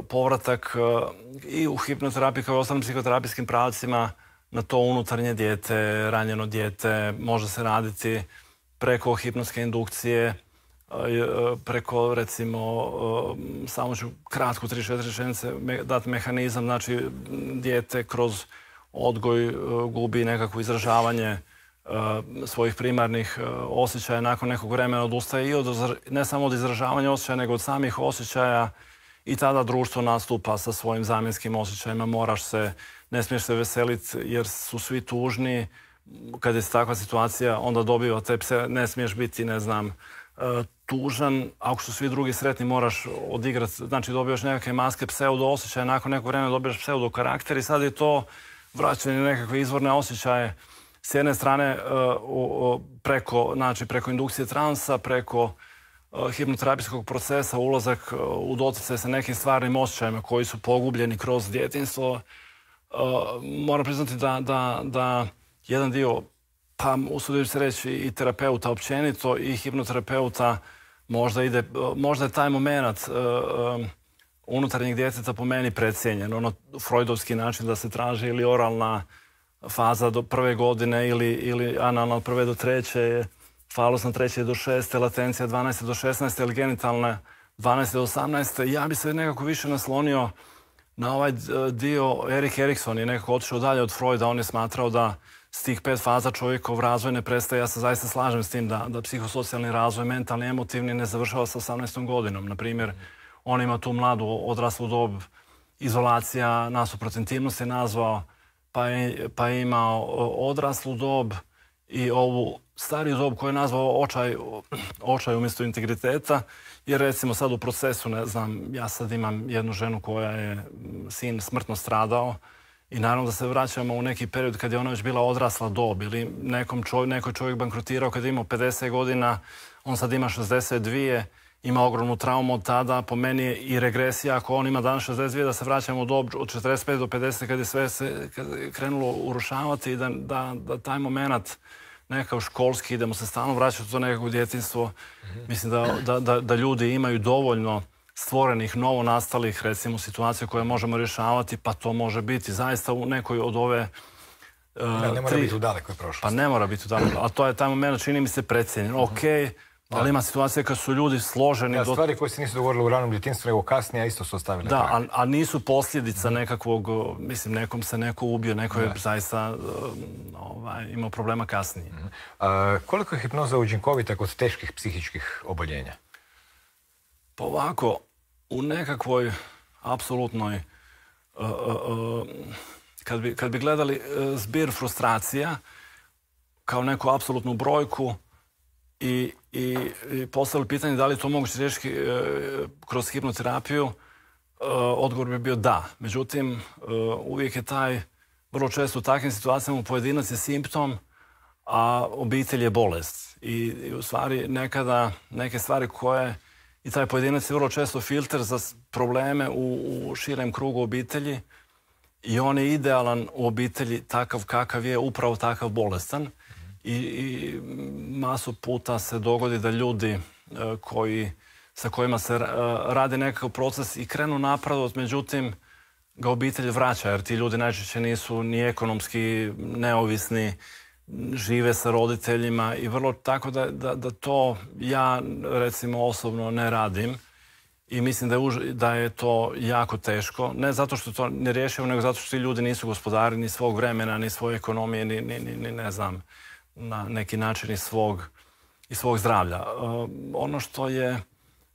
povratak i u hipnoterapiji kao i ostalim psihoterapijskim pravcima na to unutarnje dijete, ranjeno dijete. Može se raditi preko hipnotske indukcije, preko, recimo, samo ću kratko 3-4 rečenice dati mehanizam, znači dijete kroz odgoj gubi nekakvo izražavanje svojih primarnih osjećaja, nakon nekog vremena odustaje i ne samo od izražavanja osjećaja, nego od samih osjećaja, i tada društvo nastupa sa svojim zamjenskim osjećajima. Ne smiješ se veseliti jer su svi tužni. Kad je takva situacija, onda dobiva te pse, ne smiješ biti, tužan. Ako su svi drugi sretni, moraš odigrati, znači dobivaš nekakve maske pseudo osjećaja, nakon nekog vremena dobivaš pseudo karakter i sad je to vraćanje nekakve izvorne osjećaje. S jedne strane preko indukcije transa, preko hipnoterapijskog procesa, ulazak u doticaj sa nekim stvarnim osjećajima koji su pogubljeni kroz djetinjstvo. Moram priznati da jedan dio, pa usudim se reći i terapeuta općenito i hipnoterapeuta, možda je taj moment unutarnjeg djeteta po meni precijenjen. Freudovski način da se traži ili oralna faza do 1. godine ili analna od 1. do 3. falosna 3. do 6. latencija 12. do 16. ili genitalna 12. do 18. Ja bi se nekako više naslonio na ovaj dio. Erik Erikson je nekako otišao dalje od Freuda. On je smatrao da s tih 5 faza čovjekov razvoj ne prestaje. Ja se zaista slažem s tim da psihosocijalni razvoj, mentalni, emotivni ne završava sa 18. godinom. Naprimjer, on ima tu mladu odraslu dob, izolacija, nasuprot intimnosti nazvao, pa je imao odraslu dob i ovu stariju dob koju je nazvao očaj umjesto integriteta. Jer recimo sad u procesu, ja sad imam jednu ženu koja je sin smrtno stradao i naravno da se vraćamo u neki period kad je ona već bila odrasla dob ili neko čovjek bankrotirao kad je imao 50 godina, on sad ima 62, ima ogromnu traumu od tada. Po meni je i regresija, ako on ima danas 62, da se vraćamo u dob od 45 do 50 kad je sve se krenulo urušavati i da taj moment nekakav školski, idemo se stalno vraćati u to nekako djetinjstvo. Mislim da ljudi imaju dovoljno stvorenih, novo nastalih, recimo, situacija koje možemo rješavati, pa to može biti zaista u nekoj od ove... ne mora biti u dalekoj prošlosti. Pa ne mora biti u dalekoj, ali to je taj moment, čini mi se, precijenjen. Ali ima situacija kad su ljudi složeni... Stvari koje se nisu dogovorile u ranom djetinjstvu, nego kasnije, a isto su ostavili. Da, a nisu posljedica nekakvog, mislim, nekom se neko ubio, neko je zaista imao problema kasnije. Koliko je hipnoza učinkovita kod teških psihičkih oboljenja? Pa ovako, u nekakvoj apsolutnoj... Kad bi gledali zbir frustracija kao neku apsolutnu brojku, i postavili pitanje da li je to moguće riješiti kroz hipnoterapiju, odgovor bi bio da. Međutim, uvijek je vrlo često u takvim situacijama pojedinac je simptom, a obitelj je bolest. I u stvari nekada neke stvari koje i taj pojedinac je vrlo često filter za probleme u širem krugu obitelji i on je idealan u obitelji takav kakav je, upravo takav bolestan. I masu puta se dogodi da ljudi sa kojima se radi nekakav proces i krenu napredovati, međutim ga obitelj vraća, jer ti ljudi najčešće nisu ni ekonomski neovisni, žive sa roditeljima i vrlo tako da to ja recimo osobno ne radim i mislim da je to jako teško. Ne zato što to ne rješava, nego zato što ti ljudi nisu gospodari ni svog vremena, ni svoje ekonomije, ni ne znam, na neki način i svog zdravlja. Ono što je,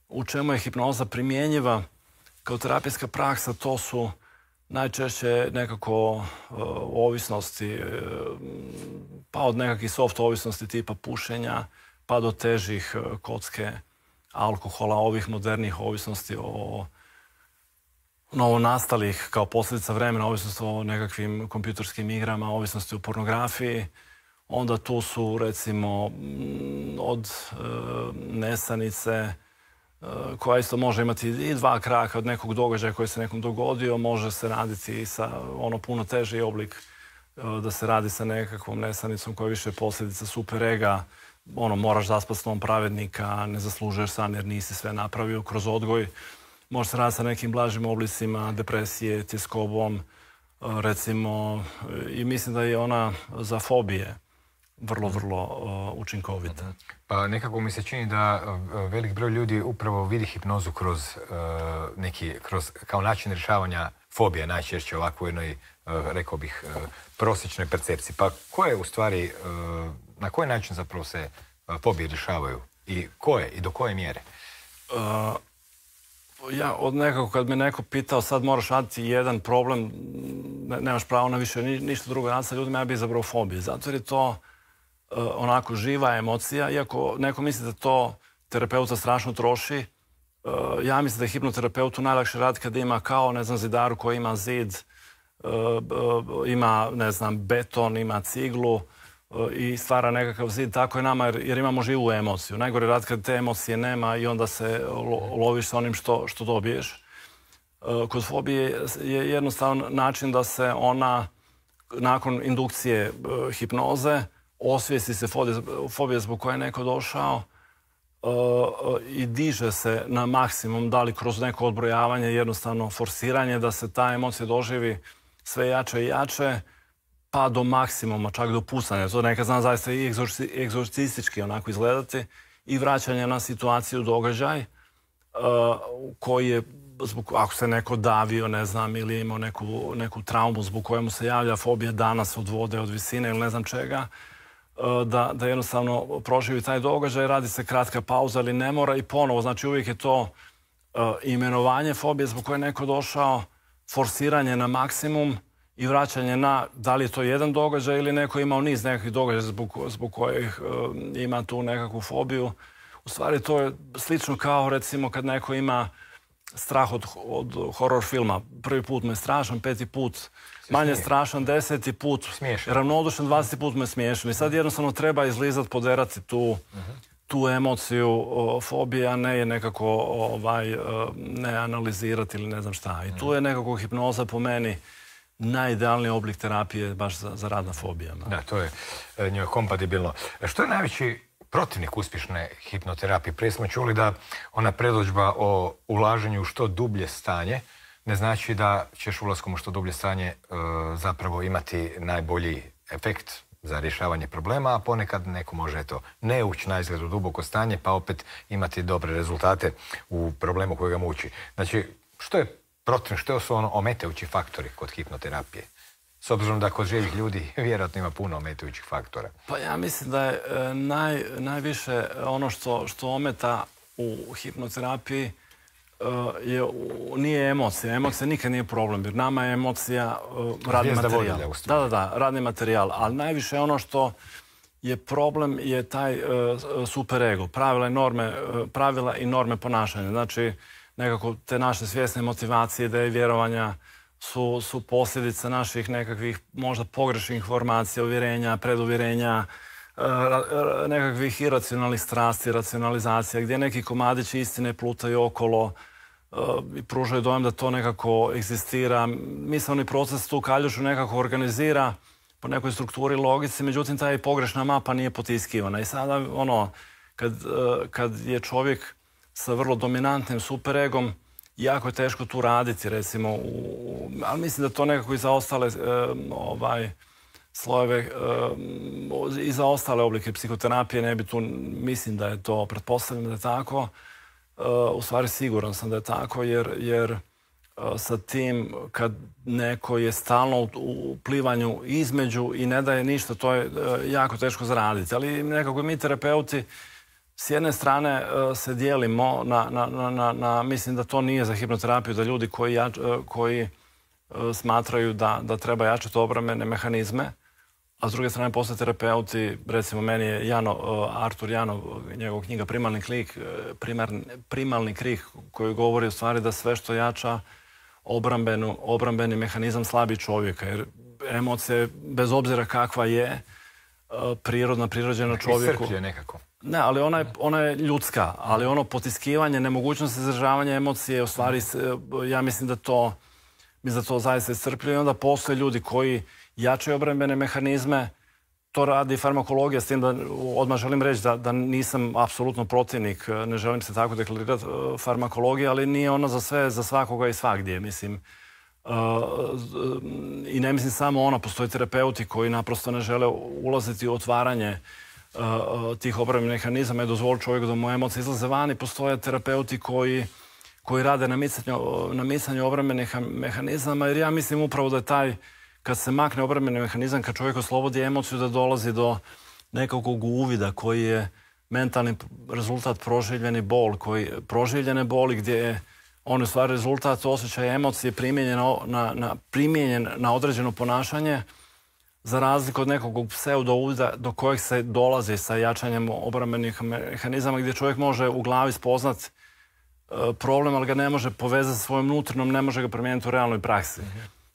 u čemu je hipnoza primjenjiva kao terapijska praksa, to su najčešće nekako ovisnosti, pa od nekakvih soft ovisnosti tipa pušenja, pa do težih kocke, alkohola, ovih modernih ovisnosti o novonastalih kao posljedica vremena, ovisnosti o nekakvim kompjuterskim igrama, ovisnosti o pornografiji. Onda tu su recimo od nesanice, koja isto može imati i 2 kraka od nekog događaja koji se nekom dogodio, može se raditi i sa puno teži oblik, da se radi sa nekakvom nesanicom koja je više posljedica superega, moraš zaspati snom pravednika, ne zaslužuješ san jer nisi sve napravio kroz odgoj. Može se raditi sa nekim blažim oblicima depresije, tjeskobom, recimo, i mislim da je ona za fobije vrlo učinkovita. Pa nekako mi se čini da velik broj ljudi upravo vidi hipnozu kroz kao način rješavanja fobija, najčešće ovako u jednoj, rekao bih, prosječnoj percepciji. Pa na koji način zapravo se fobije rješavaju i koje i do koje mjere? Ja od nekako kad me neko pitao sad moraš raditi jedan problem, nemaš pravo na više ništa drugo raditi sa ljudima, ja bih izabrao fobije. Zato jer je to onako živa emocija, iako neko misli da to terapeuta strašno troši. Ja mislim da je hipnoterapeutu najlakše raditi kad ima kao, ne znam, zidaru koji ima zid, ima, ne znam, beton, ima ciglu i stvara nekakav zid. Tako je nama jer imamo živu emociju. Najgore je raditi kad te emocije nema i onda se loviš sa onim što dobiješ. Kod fobije je jednostavan način da se ona nakon indukcije hipnoze osvijesti se fobija zbog koje je neko došao i diže se na maksimum, da li kroz neko odbrojavanje, jednostavno forsiranje, da se ta emocija doživi sve jače i jače, pa do maksimuma, čak do pusanja. To nekad zna zaista i egzorcistički onako izgledati i vraćanje na situaciju, događaj koji je, ako se neko davio, ne znam, ili je imao neku traumu zbog kojemu se javlja fobija danas od vode, od visine ili ne znam čega, da jednostavno proživi taj događaj, radi se kratka pauza, ali ne mora i ponovo. Znači uvijek je to imenovanje fobije zbog koje je neko došao, forsiranje na maksimum i vraćanje na da li je to jedan događaj ili neko imao niz nekakvih događaja zbog kojih ima tu nekakvu fobiju. U stvari to je slično kao recimo kad neko ima strah od horror filma. Prvi put me je strašan, 5. put manje strašan, 10. put ravnodušan, 20. put me je smiješan. I sad jednostavno treba izlizati, poderati tu emociju fobije, a ne je nekako ne analizirati ili ne znam šta. I tu je nekako hipnoza po meni najidealniji oblik terapije baš za rad na fobijama. Da, to je njoj kompatibilno. Što je najveći protivnik uspješne hipnoterapije? Prije smo čuli da ona predodžba o ulaženju u što dublje stanje ne znači da ćeš ulaskom u što dublje stanje zapravo imati najbolji efekt za rješavanje problema, a ponekad neko može ne ući na izgled u duboko stanje pa opet imati dobre rezultate u problemu koji ga muči. Znači, što je protivnik, što su ometajući faktori kod hipnoterapije? S obzirom da kod živih ljudi vjerojatno ima puno ometajućih faktora. Pa ja mislim da je najviše ono što ometa u hipnoterapiji nije emocija. Emocija nikad nije problem, jer nama je emocija radni materijal. Da, radni materijal. Ali najviše ono što je problem je taj superego. Pravila i norme ponašanja. Znači, nekako te naše svjesne motivacije, ideje, vjerovanja su posljedica naših nekakvih možda pogrešnih informacija, uvjerenja, preduvjerenja, nekakvih iracionalnih strasti, racionalizacija, gdje neki komadići istine plutaju okolo i pružaju dojam da to nekako egzistira. Misleni proces tu kaljušu nekako organizira po nekoj strukturi, logici, međutim ta pogrešna mapa nije potiskivana. I sada kad je čovjek sa vrlo dominantnim superegom, jako je teško tu raditi, recimo, ali mislim da to nekako i za ostale slojeve i za ostale oblike psihoterapije. Ne bi tu, mislim da je to, pretpostavljam da je tako. U stvari siguran sam da je tako, jer sa tim kad neko je stalno u plivanju između i ne daje ništa, to je jako teško zaraditi. Ali nekako mi terapeuti s jedne strane se dijelimo na mislim da to nije za hipnoterapiju, da ljudi koji smatraju da treba jačati obrambene mehanizme, a s druge strane postoje terapeuti, recimo meni je Artur Janov, njegov knjiga Primalni krik, koji govori u stvari da sve što jača obrambeni mehanizam slabi čovjeka, jer emocija, bez obzira kakva je, prirođena čovjeku. Iscrpljuje nekako. Ne, ali ona je ljudska, ali ono potiskivanje, nemogućnost izražavanja emocije, u stvari, ja mislim da to zaista iscrpljuje. I onda postoje ljudi koji jačaju obrambene mehanizme, to radi farmakologija, s tim da odmah želim reći da nisam apsolutno protivnik, ne želim se tako deklarirati farmakologije, ali nije ona za sve, za svakoga i svagdje, mislim. I ne mislim samo ona, postoje terapeuti koji naprosto ne žele ulaziti u otvaranje tih obrambenih mehanizama i dozvoliti čovjeku da mu emocije izlaze van, i postoje terapeuti koji rade na micanju obrambenih mehanizama, jer ja mislim upravo da je taj, kad se makne obrambeni mehanizam, kad čovjek oslobodi emociju, da dolazi do nekakvog uvida koji je mentalni rezultat proživljene boli, gdje je on u stvari rezultat osjećaja emocije primijenjen na određeno ponašanje, za razliku od nekog pseudo-uvida do kojeg se dolazi sa jačanjem obrambenih mehanizama, gdje čovjek može u glavi spoznat problem, ali ga ne može povezati sa svojom nutrinom, ne može ga promijeniti u realnoj praksi.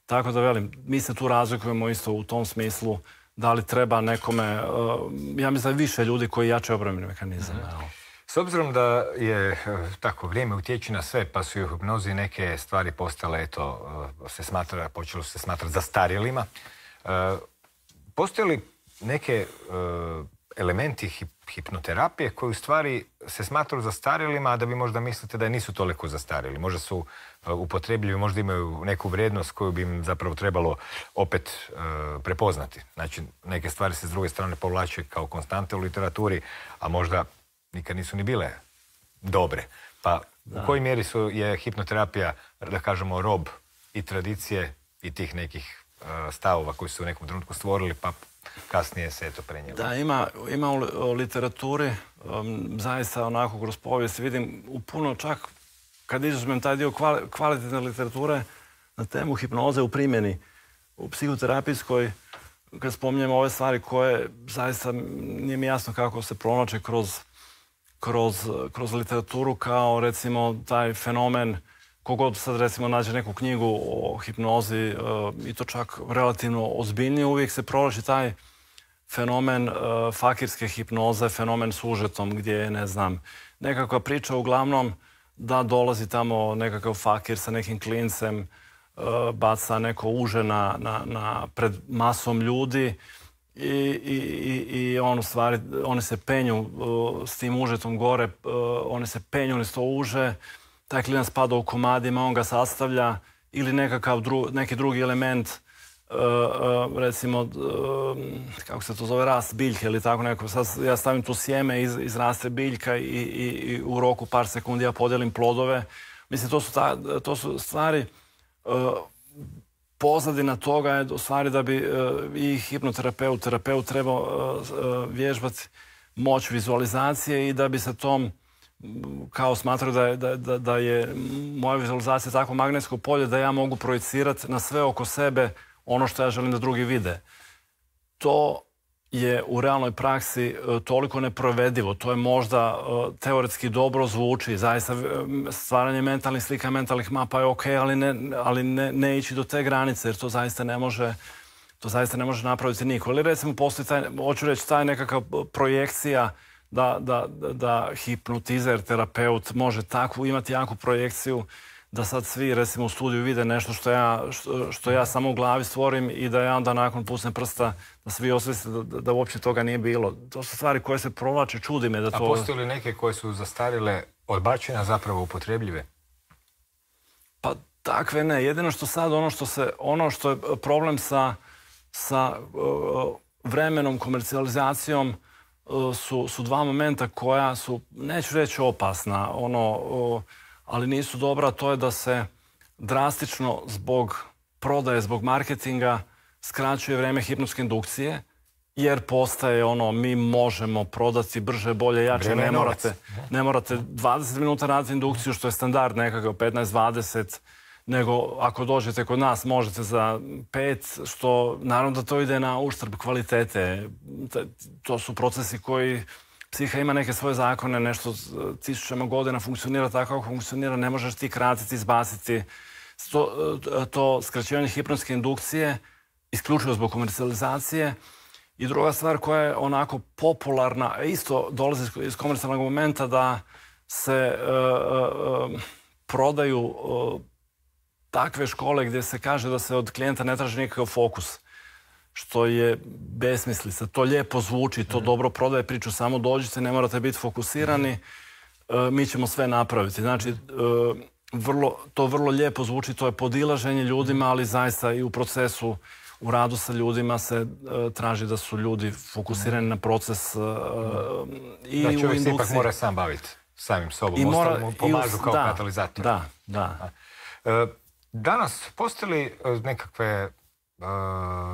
Tako da velim, mi se tu razlikujemo isto u tom smislu, da li treba nekome, ja mislim da je više ljudi koji jačaju obrambeni mehanizam. S obzirom da je tako vrijeme utječe na sve, pa su i u hipnozi neke stvari postale, počelo se smatrati zastarjelima. Postoje li neke elementi hipnoterapije koji u stvari se smatraju zastarjelima, a da vi možda mislite da nisu toliko zastarjeli? Možda su upotrebljivi, možda imaju neku vrijednost koju bi im zapravo trebalo opet prepoznati. Znači, neke stvari se s druge strane povlače kao konstante u literaturi, a možda nikad nisu ni bile dobre. Pa u kojoj mjeri je hipnoterapija, da kažemo, rob i tradicije i tih nekih stavova koji su u nekom trenutku stvorili, pa kasnije se to prenijelo? Da, ima u literaturi, zaista onako kroz povijest vidim u puno, čak kad izuzmem taj dio kvalitetne literature na temu hipnoze u primjeni, u psihoterapijskoj, kad spominjemo ove stvari koje zaista nije mi jasno kako se pronače kroz literaturu, kao recimo taj fenomen, kogod sad recimo nađe neku knjigu o hipnozi i to čak relativno ozbiljnije, uvijek se provlači taj fenomen fakirske hipnoze, fenomen s užetom, gdje je, ne znam, nekakva priča uglavnom da dolazi tamo nekakav fakir sa nekim klincem, baca neko uže pred masom ljudi i on u stvari, oni se penju s tim užetom gore, oni se penju niz to uže, taj klinac pada u komadima, on ga sastavlja, ili neki drugi element, recimo, kako se to zove, rast biljke ili tako neko. Sad ja stavim tu sjeme, izraste biljka i u roku par sekundi ja podijelim plodove. Mislim, to su stvari, pozadina toga je u stvari da bi i terapeut trebao vježbati moć vizualizacije i da bi se tom, kao smatraju da je moja vizualizacija tako magnetsko polje da ja mogu projicirati na sve oko sebe ono što ja želim da drugi vide. To je u realnoj praksi toliko neprovedivo. To je možda teoretski dobro zvuči. Zaista stvaranje mentalnih slika, mentalnih mapa je ok, ali ne ići do te granice, jer to zaista ne može napraviti niko. Ali recimo postoji hoću reći, taj nekakav projekcija da hipnotizer, terapeut može imati jaku projekciju da sad svi, recimo, u studiju vide nešto što ja samo u glavi stvorim i da ja onda nakon pusnem prsta da svi osvijeste da uopće toga nije bilo. To su stvari koje se provlače, čudi me da to... A postoje li neke koje su zastarile, odbačene, a zapravo upotrebljive? Pa takve ne. Jedino što sad ono što je problem sa sa vremenom, komercijalizacijom su dva momenta koja su, neću reći opasna, ali nisu dobra. To je da se drastično zbog prodaje, zbog marketinga skraćuje vreme hipnotske indukcije, jer postaje mi možemo prodati brže, bolje, jače. Ne morate 20 minuta raditi indukciju, što je standard nekakav 15-20, nego ako dođete kod nas možete za 5, što naravno da to ide na uštrb kvalitete. To su procesi koji, psiha ima neke svoje zakone, nešto tisućama godina funkcionira tako kako funkcionira, ne možeš ti kratiti, izbaciti. To skraćivanje hipnotske indukcije isključivo zbog komercijalizacije. I druga stvar koja je onako popularna, isto dolazi iz komercijalnog momenta, da se prodaju takve škole gdje se kaže da se od klijenta ne traži nikakav fokus, što je besmislica. To lijepo zvuči, to dobro prodaje priču, samo dođite, ne morate biti fokusirani, mi ćemo sve napraviti. Znači, to vrlo lijepo zvuči, to je podilaženje ljudima, ali zaista i u procesu, u radu sa ljudima se traži da su ljudi fokusirani na proces i u indukciji. Da, čovjek se ipak mora sam baviti samim sobom, ostalo mu pomažu kao katalizator. Da. Danas postoji li nekakve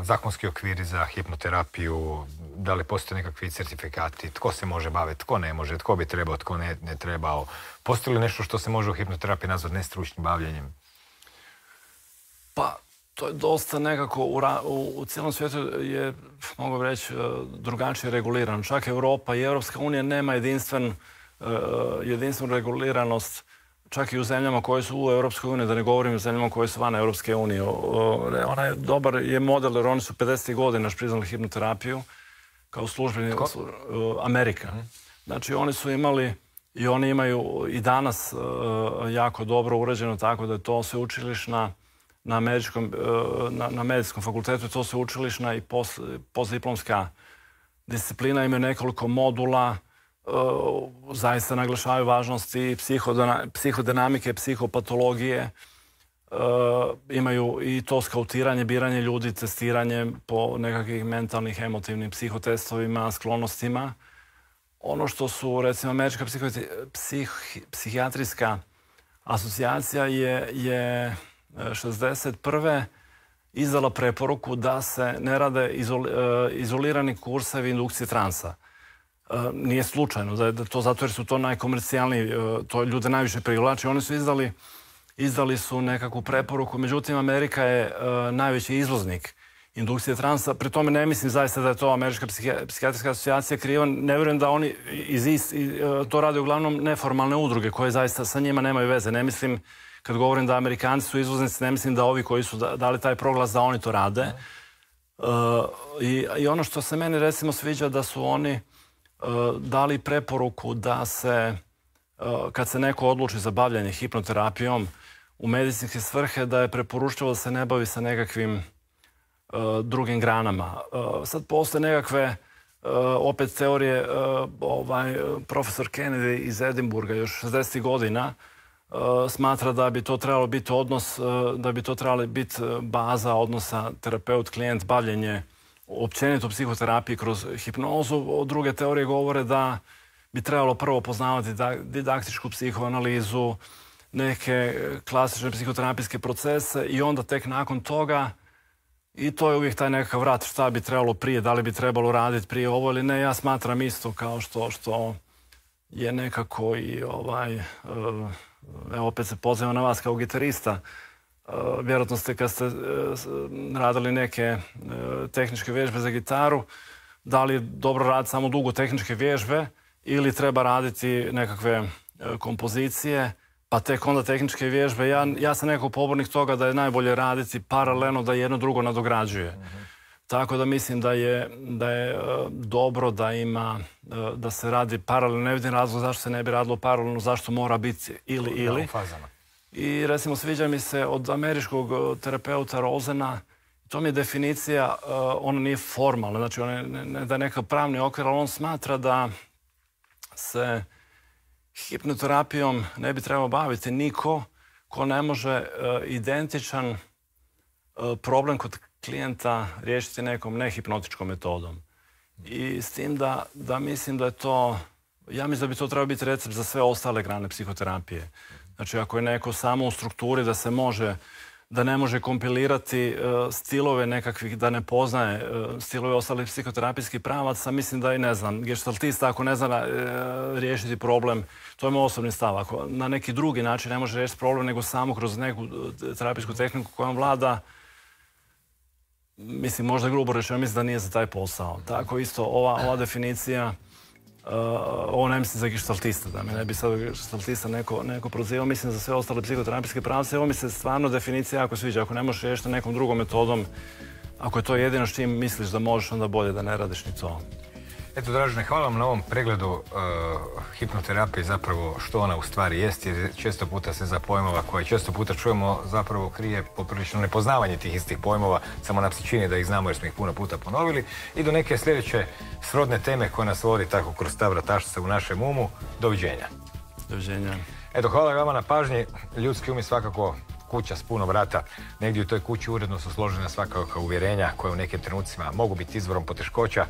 zakonski okviri za hipnoterapiju, da li postoje nekakvi certifikati, tko se može baviti, tko ne može, tko bi trebao, tko ne trebao? Postoji li nešto što se može u hipnoterapiji nazvati nestručnim bavljenjem? Pa, to je dosta nekako, u cijelom svijetu je, mogu reći, drugačije regulirano. Čak Europa i Europska unija nema jedinstvenu reguliranost, čak i u zemljama koje su u Europskoj uniji, da ne govorim o zemljama koje su van Europske unije. Onaj dobar je model, jer oni su 50. godina priznali hipnoterapiju kao službeni Amerika. Znači, oni su imali i oni imaju i danas jako dobro uređeno, tako da je to sveučilišna na medicinskom fakultetu, to sveučilišna i postdiplomska disciplina, imaju nekoliko modula, zaista naglašavaju važnost i psihodinamike, psihopatologije, imaju i to skautiranje, biranje ljudi, testiranje po nekakvih mentalnih, emotivnim psihotestovima, sklonostima. Ono što su, recimo, Američka psihijatrijska asocijacija je 61. izdala preporuku da se ne rade izolirani kursevi indukcije transa. Nije slučajno, da je to zato jer su to najkomercijalniji, to ljude najviše privlači. Oni su izdali su nekakvu preporuku, međutim Amerika je najveći izvoznik indukcije transa. Pri tome ne mislim zaista da je to Američka psihijatrijska asocijacija kriva. Ne vjerujem da oni to rade uglavnom neformalne udruge koje zaista sa njima nemaju veze. Ne mislim, kad govorim da Amerikanci su izvoznici, ne mislim da ovi koji su dali taj proglas da oni to rade. I ono što se meni recimo sviđa da su oni dali preporuku da se, kad se neko odluči za bavljanje hipnoterapijom u medicinske svrhe, da je preporučljivo da se ne bavi sa nekakvim drugim granama. Sad postoje nekakve opet teorije, profesor Kennedy iz Edinburga još 60. godina smatra da bi to trebalo biti odnos, da bi to trebalo biti baza odnosa terapeut-klijent, bavljenje općenito u psihoterapiji kroz hipnozu. Druge teorije govore da bi trebalo prvo poznavati didaktičku psihoanalizu, neke klasične psihoterapijske procese i onda tek nakon toga, i to je uvijek taj nekakav vrat šta bi trebalo prije, da li bi trebalo raditi prije ovo ili ne. Ja smatram isto kao što je nekako i evo opet se pozivam na vas kao gitarista. Vjerojatno ste kad ste radili neke tehničke vježbe za gitaru, da li je dobro raditi samo dugo tehničke vježbe ili treba raditi nekakve kompozicije, pa tek onda tehničke vježbe. Ja sam nekako pobornik toga da je najbolje raditi paralelno, da jedno drugo nadograđuje. Tako da mislim da je dobro da se radi paralelno. Ne vidim razlog zašto se ne bi radilo paralelno, zašto mora biti ili. I recimo sviđa mi se od američkog terapeuta Rosena, to mi je definicija, ona nije formalna, znači da je neka pravni okvir, ali on smatra da se hipnoterapijom ne bi trebao baviti niko ko ne može identičan problem klijenta riješiti nekom nehipnotičkom metodom. I s tim da mislim da je to, ja mislim da bi to trebao biti recept za sve ostale grane psihoterapije. Znači, ako je neko samo u strukturi da ne može kompilirati stilove nekakvih, da ne poznaje stilove ostalih psihoterapijskih pravaca, mislim da i ne znam, geštaltista ako ne zna riješiti problem, to je moj osobni stav. Ako na neki drugi način ne može riješiti problem, nego samo kroz neku terapijsku tehniku kojom vlada, mislim, možda grubo rečeno, mislim da nije za taj posao. Tako isto, ova definicija, ovo ne mislim za geštaltista, da mi ne bi sad geštaltista neko prozivao, mislim za sve ostale psihoterapijske pravce. Ovo mi se stvarno definicija jako sviđa. Ako ne možeš riješiti nekom drugom metodom, ako je to jedino s čim misliš da možeš, onda bolje da ne radiš ni to. Eto, Dražene, hvala vam na ovom pregledu hipnoterapije, zapravo što ona u stvari jest, jer često puta se za pojmova koje često puta čujemo zapravo krije poprilično nepoznavanje tih istih pojmova, samo nam se čini da ih znamo jer smo ih puno puta ponovili, i do neke sljedeće srodne teme koja nas vodi tako kroz ta vratačica u našem umu. Doviđenja. Doviđenja. Eto, hvala vama na pažnji. Ljudski um je svakako kuća s puno vrata. Negdje u toj kući uredno su složena svakakva uvjerenja koje u nekim trenucima mogu biti izvorom poteškoća.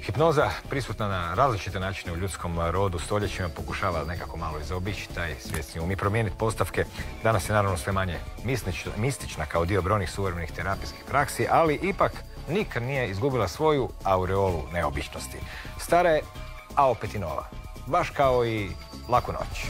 Hipnoza, prisutna na različite načine u ljudskom rodu, stoljećima, pokušava nekako malo i zaobići taj svjesni um i promijeniti postavke. Danas je naravno sve manje mistična kao dio brojnih suvremenih terapijskih praksi, ali ipak nikad nije izgubila svoju aureolu neobičnosti. Stara je, a opet i nova. Baš kao i Laku noć.